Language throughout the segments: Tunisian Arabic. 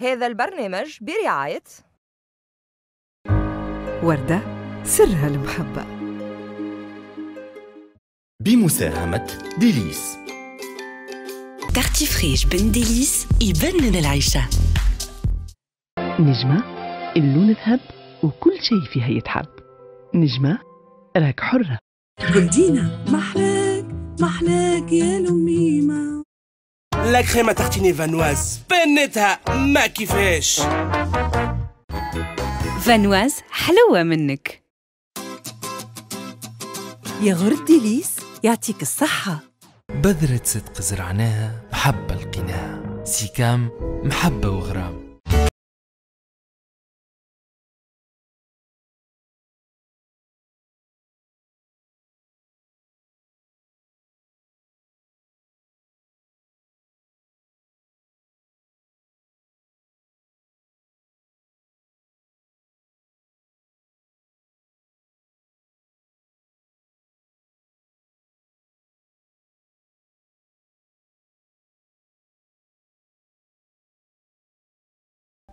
هذا البرنامج برعاية وردة سرها المحبة، بمساهمة ديليس. Tartifriche بن ديليس يبنن العيشة. نجمة اللون ذهب وكل شيء فيها يتحب. نجمة راك حرة. جولدينا محلاك محلاك يا لميمة. la crème à tartiner Vanoise بنتها ما كيفاش. Vanoise حلوة منك. ياغورت ديليس يعطيك الصحة. بذرة صدق زرعناها محبة لقيناها. سيكام محبة وغرام.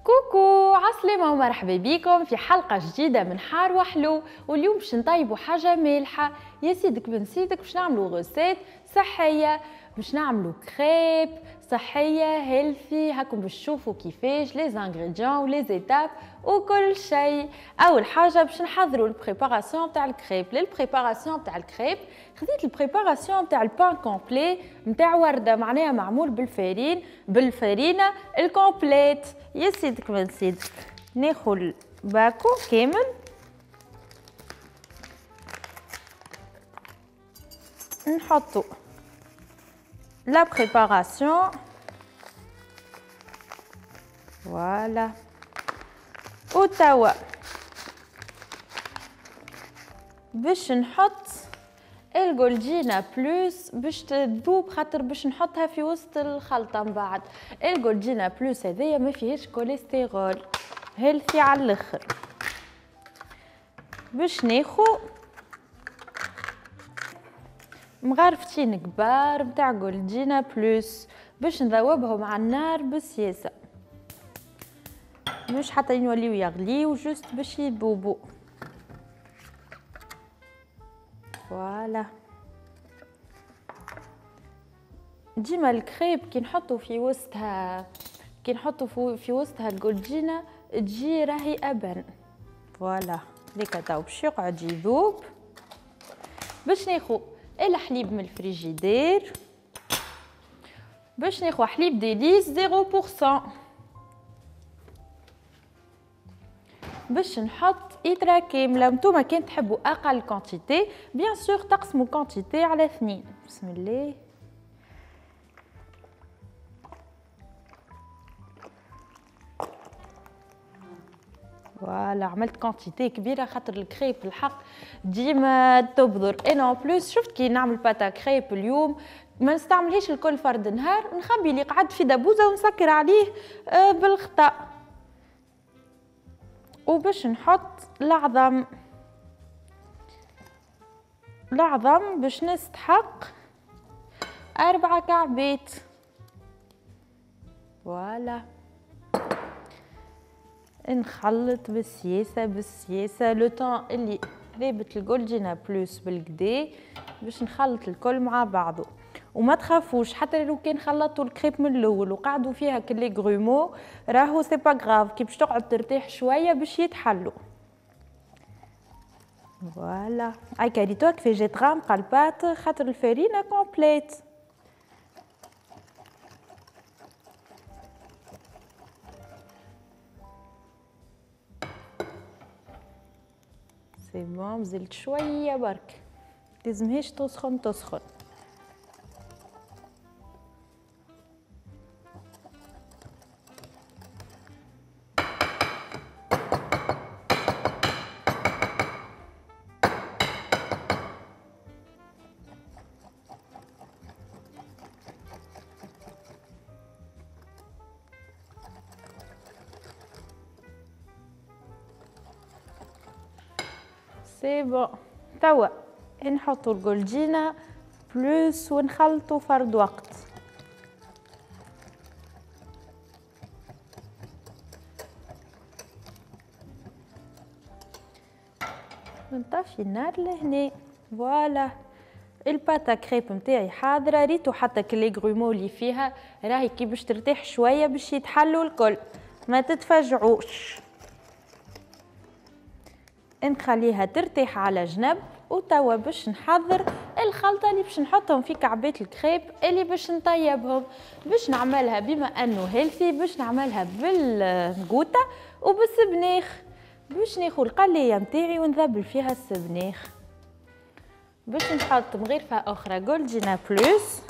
coucou عسلامة ومرحبا بيكم في حلقة جديدة من حار وحلو. واليوم باش نطيبوا حاجة مالحة يا سيدك بن سيدك، باش نعملوا recette صحية، باش نعملوا كريب صحية healthy. هاكم باش تشوفوا كيفاش les ingrédients و les étapes وكل شيء. اول حاجة باش نحضروا ال préparation تاع ال crêpe. لل préparation تاع الكريب خديت ال préparation تاع ال pain complet نتاع ورده، معناها معمول بال farine بالفرينه ال complète. يا سيدك بن سيدك ناخذ باكو كامل، نحطو la préparation. Voilà. وتوا باش نحط الجولدينا بلوس باش تذوب، خاطر باش نحطها في وسط الخلطة من بعد. الجولدينا بلوس هذيا ما فيهاش cholestérol، healthy على الاخر. باش ناخو مغرفتين كبار متاع جولدينا بلوس باش نذوبهم على النار بالسياسة، مش حتى يوليو يغليو، juste باش يذوبوا. voilà ديما الكريب كي نحطو في وسطها، كي نحطو في وسطها الجولدينا تجي راهي ابن. voilà هذيك تو باش يقعد يذوب. باش ناخو الحليب من الفريجيدير، باش ناخو حليب ديليس 0%، باش نحط إترا كاملة. نتوما كان تحبوا أقل quantité bien sûr تقسموا quantité على 2. بسم الله. voilà عملت quantité كبيرة خاطر الكريب الحق ديما تبذر. انا en plus شفت كي نعمل pâte à crêpes اليوم ما نستعملهاش الكل فرد نهار، نخبي اللي قعد في دبوزه ونسكر عليه بالغطاء. وباش نحط العظم، العظم باش نستحق 4 كعبات. voilà نخلط بالسياسة بالسياسة le temps اللي ذابت الجولدينا بلوس بالكدا باش نخلط الكل مع بعضه. وما تخافوش حتى لو كان خلطوا الكريب من الاول وقعدوا فيها كل les grumeaux راهو c'est pas grave، كي باش تقعد ترتاح شوية باش يتحلوا. voilà هاي كاريتو كيفاش جات غامقه ال pâte خاطر الفرينة complète. c'est bon مازلت شوية برك، لازمهاش تسخن تسخن. c'est bon توا نحطو الجولدينا بلوس ونخلطو فرد وقت. ونطفي النار لهنا. voilà ال pâte à crêpes نتاعي حاضره. ريتو حتى ك les grumeaux اللي فيها راهي كي باش ترتاح شوية باش يتحلوا الكل، ما تتفجعوش. نخليها ترتاح على جنب. وتوا باش نحضر الخلطة اللي باش نحطهم في كعبات الكريب اللي باش نطيبهم. باش نعملها بما انه healthy باش نعملها بالقوطه وبالسبناخ. باش ناخذ القليه نتاعي ونذبل فيها السبناخ. باش نحط مغرفه اخرى جولدينا بلوس،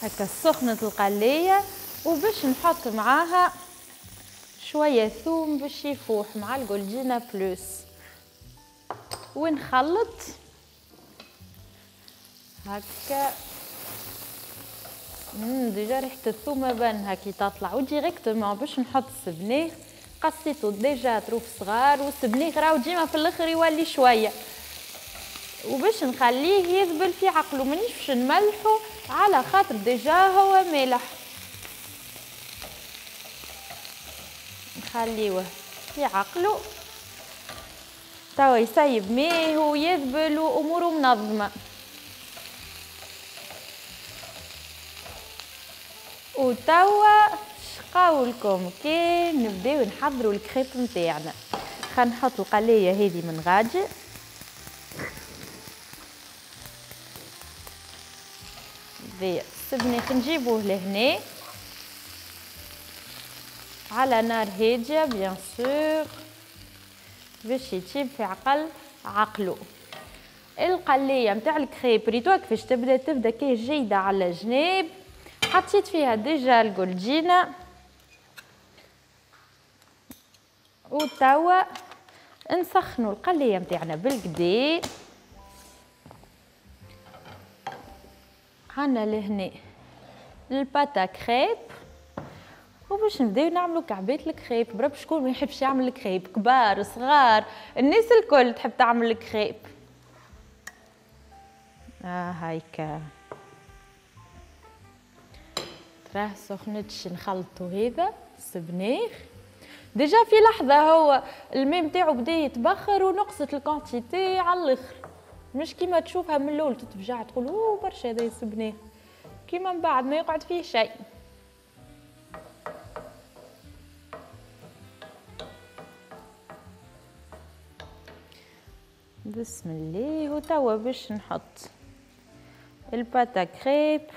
هكا سخنة القليه. وباش نحط معاها شوية ثوم باش يفوح مع الجولدينا بلوس، ونخلط هكا. déjà ريحه الثوم بانها كي تطلع. و directement باش نحط السبناخ، قصيتو déjà طروف صغار، والسبناخ راهو ديما في الاخر يولي شوية، وباش نخليه يذبل في عقله، مانيش باش نملحو على خاطر déjà هو مالح. نخليوه في عقله توا يسيب ماء ويذبل واموره منظمة. وتوا شقاولكم كي نبداو نحضروا الكريب نتاعنا. خلينا نحط القليه هذه من غادي، ذي السبناخ نجيبوه لهنا على نار هادية bien sûr باش يطيب في عقل عقلو. القليه نتاع الكريب ريتوها كيفاش تبدا، تبدا كي جيدة على جناب. حطيت فيها déjà الجولدينا. وتوا نسخنوا القليه نتاعنا بالكدا. عندنا لهنا ال pâte à crêpes، وباش نبداو نعملو كعبات الكريب. برب شكون ما يحبش يعمل الكريب، كبار صغار الناس الكل تحب تعمل الكريب. هايكا تراه سخنتش. نخلطو هذا السبناخ déjà في لحظة هو الماء نتاعو بدا يتبخر ونقصت ال quantité على الاخر، مش كيما تشوفها من الاول تتفجع تقول اوه برشا هذا السبناخ، كيما من بعد ما يقعد فيه شيء. بسم الله. وتوا باش نحط ال pâte à crêpes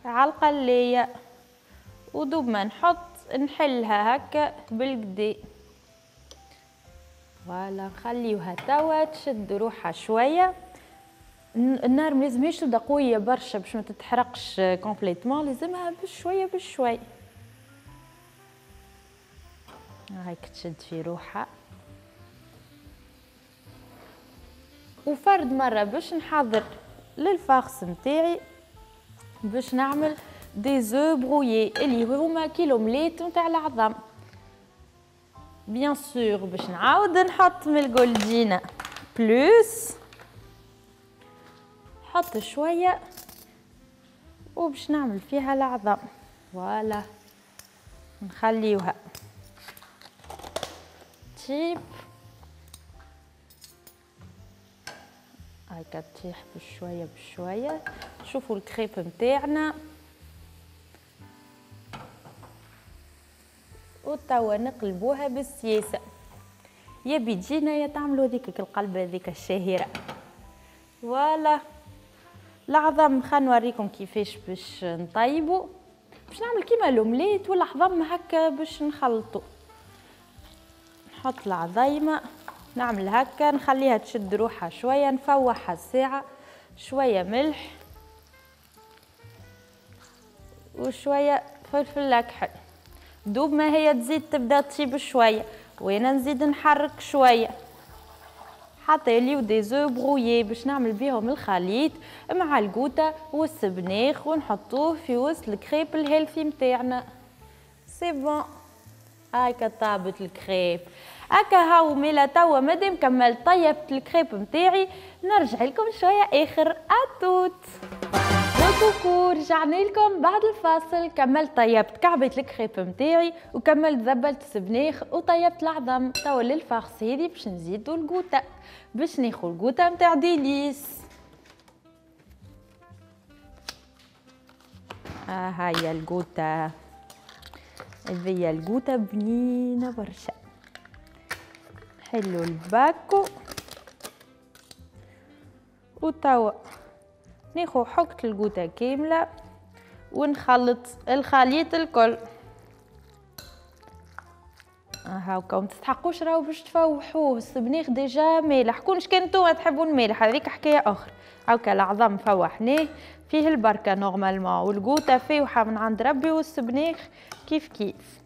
على القليه، ودوب ما نحط نحلها هكا بالقدي. voilà نخليوها توا تشد روحها شوية. النار ما لازمهاش تبدا قوية برشا باش ما تتحرقش complètement، لازمها بشوية بشوية هاك تشد في روحها. وفرد مرة باش نحضر لل farce نتاعي باش نعمل des œufs brouillés اللي هما كي l'omelette نتاع العظم. bien sûr باش نعاود نحط من الجولدينا بلوس، نحط شوية وباش نعمل فيها العظم. voilà نخليوها تيب هاكا تطيح بشوية بشوية. شوفوا الكريب نتاعنا. وتوا نقلبوها بالسياسة، يا بيجينا يا تعملوا هذيك القلبه هذيك الشهيرة. voilà العظم خلينا نوريكم كيفاش باش نطيبو. باش نعمل كيما l'omelette والعظم هكا باش نخلطو. نحط العظيمة نعمل هكا، نخليها تشد روحها شوية، نفوحها الساعة، شوية ملح وشوية فلفل اكحل. دوب ما هي تزيد تبدا تطيب شوية، وانا نزيد نحرك شوية حتى يوليو des œufs brouillés باش نعمل بيهم الخليط مع القوطه والسبناخ ونحطوه في وسط ال crêpe ال healthy نتاعنا. c'est bon هاكا طابت الكريب. هكا هاو ميلا توا مادام كملت طيبت الكريب نتاعي نرجع لكم شوية اخر. à toute. coucou، رجعنا لكم بعد الفاصل. كملت طيبت كعبة الكريب نتاعي وكملت ذبلت السبناخ وطيبت العظم. توا لل farce هذي باش نزيدو القوطة، باش ناخو القوطة نتاع ديليس. هاي القوطة، هذيا القوطة بنينة برشا. حلو الباكو. وتوا ناخو حكة القوطة كاملة ونخلط الخليط الكل. هاكا ما تستحقوش راهو باش تفوحوه، السبنيخ déjà مالح، كونش كان نتوما تحبوا المالح هذيك حكاية أخرى. هاكا العظم فوحناه فيه البركة normalement، والقوطة فاوحة من عند ربي، والسبنيخ كيف كيف.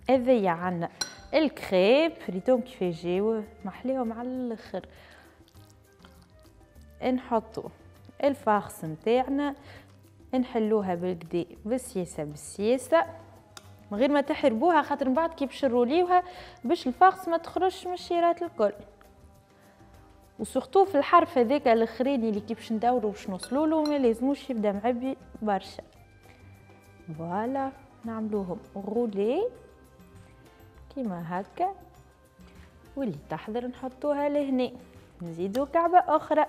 هذيا عندنا الكريب ريتهم كيف يجيو محليهم على الاخر. نحطو ال farce نتاعنا، نحلوها بالكدا بالسياسة بالسياسة من غير ما تحربوها، خاطر من بعد كي باش نروليوها باش ال farce ما تخرجش من الشيرات الكل. و surtout في الحرف هذاك الاخراني اللي كي باش ندورو باش نوصلولو ما لازموش يبدا معبي برشا. voilà نعملوهم roulé كيما هكا، واللي تحضر نحطوها لهنا. نزيدو كعبة أخرى.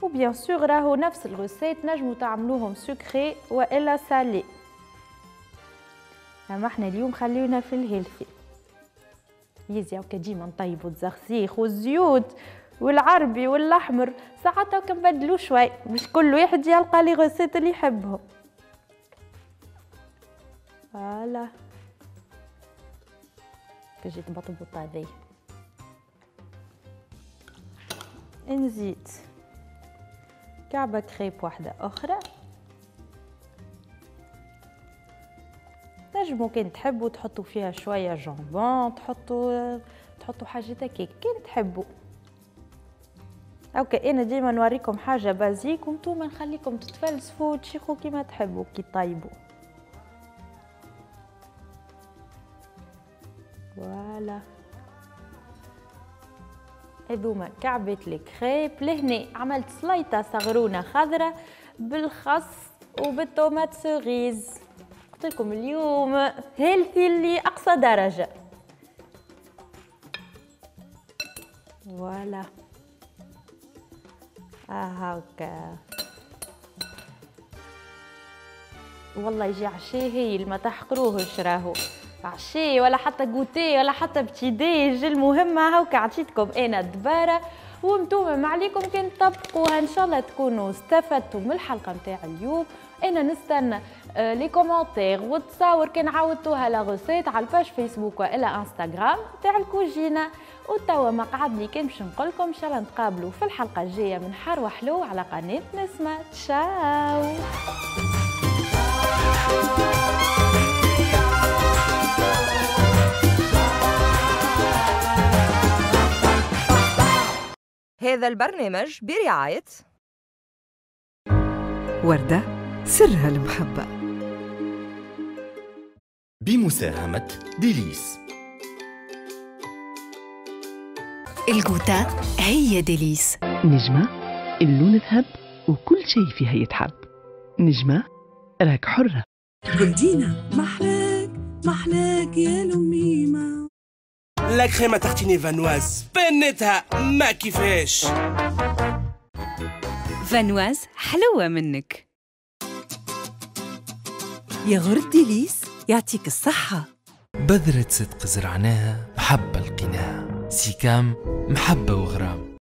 و bien sûr راهو نفس ال recette نجمو تعملوهم sucré والا salé، اما احنا اليوم خليونا في ال healthy. يزي هكا ديما نطيبو الزخزيخ والزيوت والعربي والاحمر، ساعات هكا نبدلو شوي باش كل واحد يلقى les recettes اللي يحبهم. voilà كجيت بطبوطه هذي. نزيد كعبة كريب واحدة أخرى. تنجمو كان تحبوا تحطوا فيها شوية jambon، تحطوا حاجات هكاك كان تحبوا. okay أنا ديما نوريكم حاجة basique وانتوما نخليكم تتفلسفوا وتشيخوا كيما تحبوا كي طيبوا. voilà هذوما كعبة الكريب. لهنا عملت سليطة صغرونة خضرة بالخس وبال tomates cerises. قلت لكم اليوم healthy لأقصى درجة. voilà هاكا والله يجي عشاء هايل، ما تحقروهش راهو عشاء ولا حتى goûter ولا حتى petit déj. المهم هاكا عطيتكم انا الدباره وانتوما ما عليكم كان تطبقوها. ان شاء الله تكونوا استفدتوا من الحلقة نتاع اليوم. انا نستنى les commentaires وتصاور كان عاودتوها la recette على ال page فيسبوك والا انستغرام تاع الكوجينه. وتوا ما قعد لي كان باش نقول لكم ان شاء الله نتقابلوا في الحلقة الجاية من حار وحلو على قناة نسمه. تشاو. هذا البرنامج برعاية وردة سرها المحبة، بمساهمة ديليس. الجوتا هي ديليس. نجمة اللون ذهب وكل شيء فيها يتحب. نجمة راك حرة. جولدينا محلاك محلاك يا لميمة. la crème à tartiner فانواز بنتها ما كيفاش. فانواز حلوة منك. ياغورت ديليس يعطيك الصحة. بذرة صدق زرعناها محبة لقيناها. سيكام محبة وغرام.